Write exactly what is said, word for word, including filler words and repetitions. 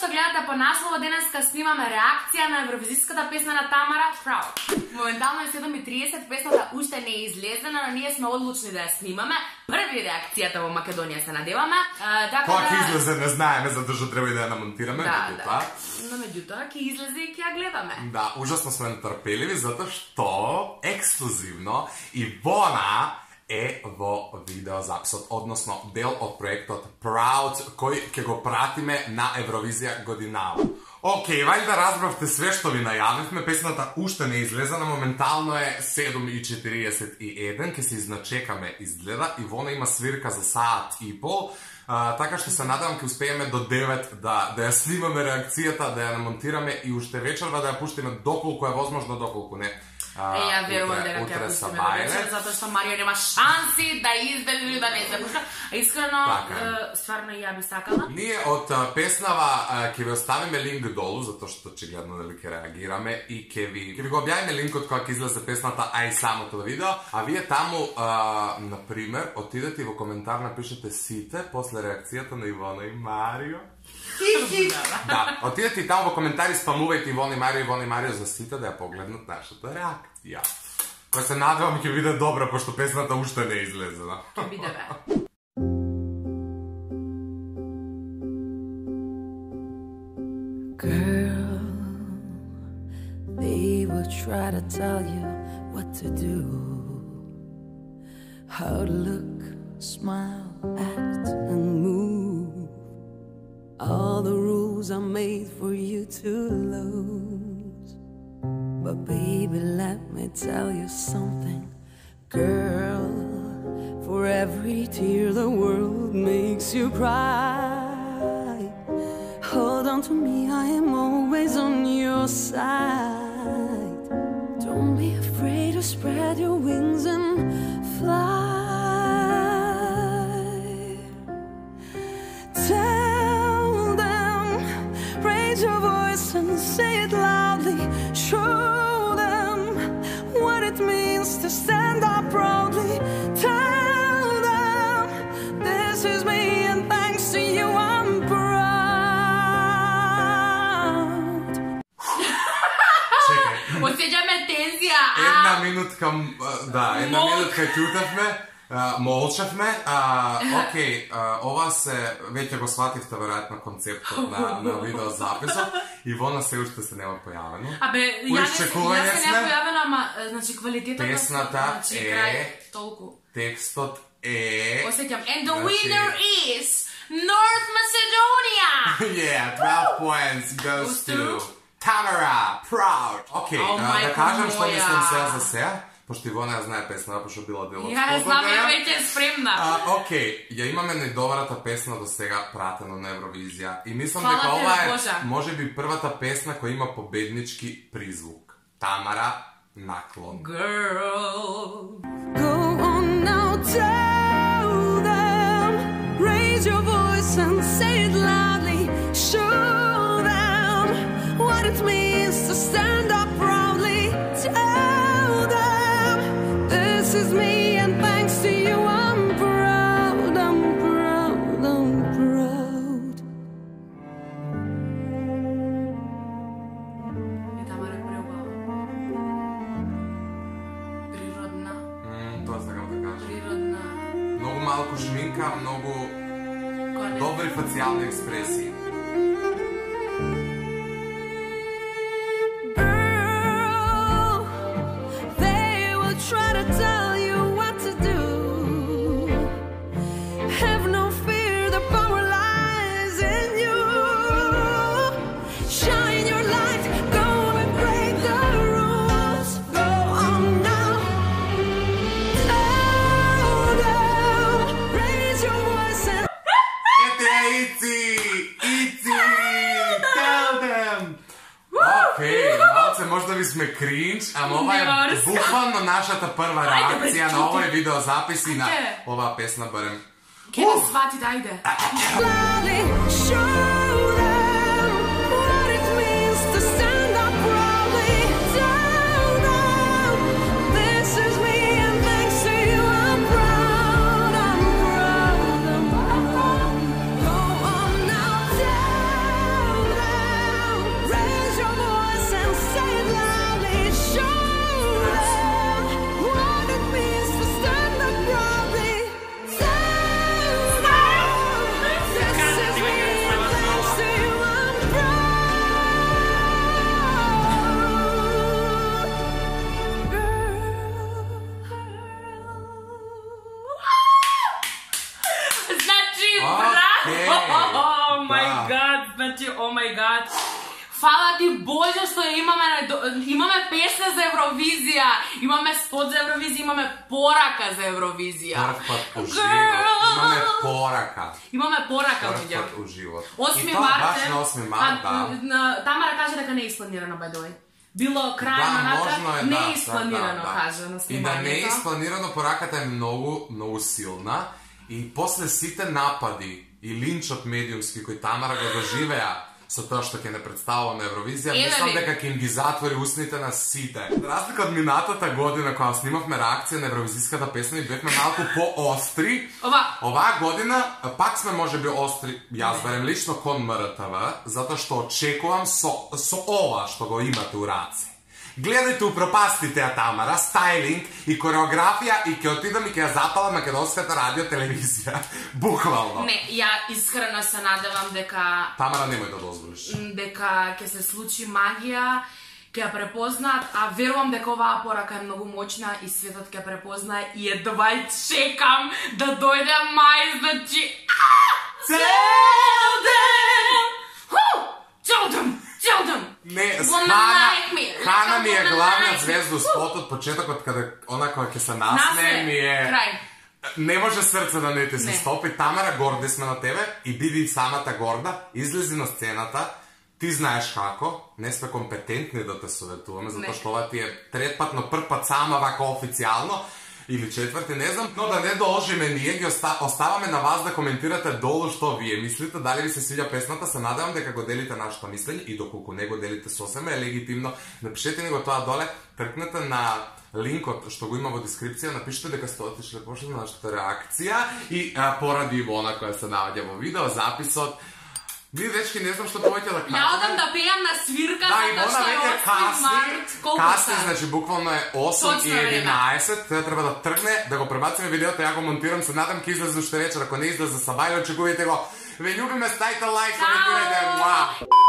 што гледате по наслова, денеска снимаме реакција на евровизиската песна на Тамара, Proud. Моментално е седум и триесет, песната уште не е излезена, но ние сме одлучни да ја снимаме. Први реакцијата во Македонија се надеваме. Така Кога ќе да... излезе не знаеме, затоа што треба и да ја намонтираме. Да, да. Но меѓутоа ќе излезе и ќе ја гледаме. Да, ужасно сме нетрпеливи, затоа што ексклузивно Ивона е во видеозаписот, односно дел од проектот Proud, кој ќе го пратиме на Евровизија годинава. Океј, вајде разбравте све што ви најавивме, песната уште не излезена, моментално е седум и четириесет и еден, ќе се изначекаме изгледа, Ивона има свирка за саат и пол, а, така што се надевам ќе успееме до девет да, да ја снимаме реакцијата, да ја намонтираме и уште вечерва да ја пуштиме доколку е возможно, доколку не. Е, ја верувам дека ќе пуштиме до вечер, затоа што Марија нема шанси да излезе или да не се пушта. Искрено, стварно и ја би сакала. Ние од песнава ќе ви оставиме линк долу, затоа што очигледно дали ќе реагираме и ќе ви ќе ви го објавиме линкот кога ќе излезе песната, а и самото видео, а вие таму на пример отидете и во коментар напишете сите после реакцијата на Ивона и Марио. Да, отидете и таму во коментари спамувајте Ивона и Марио, Ивона и Марио за сите да ја погледнат нашата реакција. Кој се надевам ќе биде добра, пошто песната уште не е излезена. Ќе биде бе. Girl, they will try to tell you what to do, how to look, smile, act and move. All the rules are made for you to lose. But baby, let me tell you something, girl. For every tear the world makes you cry, hold on to me, I am always on your side. Don't be afraid to spread your wings and fly. Tell them, raise your voice and say it loudly. Show them what it means to stand up proudly. Tell them, this is me and thanks to you I'm proud. Осеќаме тензија. Една минутка, да, една минутка ќутевме, молчевме. Океј, ова се, веќе го свативте веројатно концептот на, на видеозаписот. Ивона се уште се нема појавено. Абе, ја не се не појавено, ама, значи, квалитетот на песната е, толку. Текстот е... Осеќам, and the winner is North Macedonia! Yeah, twelve points goes to Tamara, Proud. Океј, да кажам што мислам сега за сега, пошто Ивона ја знае песна, пошто била дел од спогодбата. Ја знам, ја веќе е спремна. Океј, ја имаме најдобрата песна до сега пратена на Евровизија и мислам дека ова е можеби првата песна која има победнички призвук. Тамара, Наклон. Girl, go on now, tell them, raise your voice and say it loudly. Show them what it means to stand up proudly. Tell them, this is me and thanks to you I'm proud, I'm proud, I'm proud. и Тамара е преубава. Природна. Тоа сакам да кажам. Природна. Многу малку шминка, многу добри фацијални експресии. Girl, they will try to tell you what to do. Have no fear, the power lies in you. Shine your light, go and break the rules. Go on now. Tell them, raise your voice and Ете е Ици! Ици! Tell them! Океј, малце можда ви сме кринч, ама ова е буквално нашата прва реакција на овој видеозапис и на оваа песна барем. Ке да сватите, ајде. loudly show them what it means to stand up proudly. Tell them, this is me and thanks to you I'm proud, I'm proud, I'm proud. Go on now, tell them. oh my god. Фала ти Боже што имаме имаме песна за Евровизија, имаме спот за Евровизија, имаме порака за Евровизија. Прв пат у живот. Имаме порака. Имаме порака Прв пат у живот. осми И то март. баш на осми март, да. Тамара каже дека не е испланирано by the way. Било крај Да, на можно е, не да, е испланирано, да, да. каже на И да не е снимањето. испланирано, пораката е многу, многу силна. И после сите напади и линчот медиумски кои Тамара го доживеа со тоа што ќе не представува на Евровизија, Еве мислам ви. дека ќе им ги затвори устните на сите. За разлика од минатата година кога снимавме реакција на евровизиската песна и бевме малку поостри, Ова, оваа година пак сме можеби остри, јас барем лично кон М Р Т В, затоа што очекувам со, со ова што го имате у раце. Гледајте упропастите ја Тамара, стајлинг и кореографија и ќе отидам и ќе ја запалам македонската радио телевизија. Буквално. не, ја искрено се надевам дека Тамара, немој да дозволиш. дека ќе се случи магија, ќе ја препознаат, а верувам дека оваа порака е многу моćна и светот ќе препознае и едва чекам да дојде мај, значи цел ден! Ху! Цел ден! Цел ден! Не, с Woman Хана, like me. Хана ми е Woman главниот like me. звезд у спотот, почетокот каде она која ќе се насне Насне, ми е... крај. Не може срце да не ти се Не. стопи. Тамара, горди сме на тебе и биди самата горда, излези на сцената, ти знаеш како, не сме компетентни да те советуваме, затоа Не. што ова ти е трет пат, но прв пат сама вака официјално, или четврти, не знам, но да не должиме ние, ги оста, оставаме на вас да коментирате долу што вие мислите, дали ви се свиѓа песната, се надевам дека го делите нашето мислење и доколку не го делите сосема е легитимно, напишете ни го тоа доле, тркнете на линкот што го има во дескрипција, напишете дека сте отишли пошли на нашата реакција и а, поради Ивона која се наоѓа во видео записот. Ние дечки не знам што повеќе да кажеме. Ја одам да пеам на свирка, Да, затоа Ивона што е веќе осми касни, март. Колку касни, сат? значи буквално е осум Точно и време. единаесет, тоа треба да тргне, да го пребациме видеото, ја го монтирам, се надам ќе излезе уште вечер, ако не излезе сабајле, очекувајте го. Ве љубиме, ставите лайк, коментирајте, муа!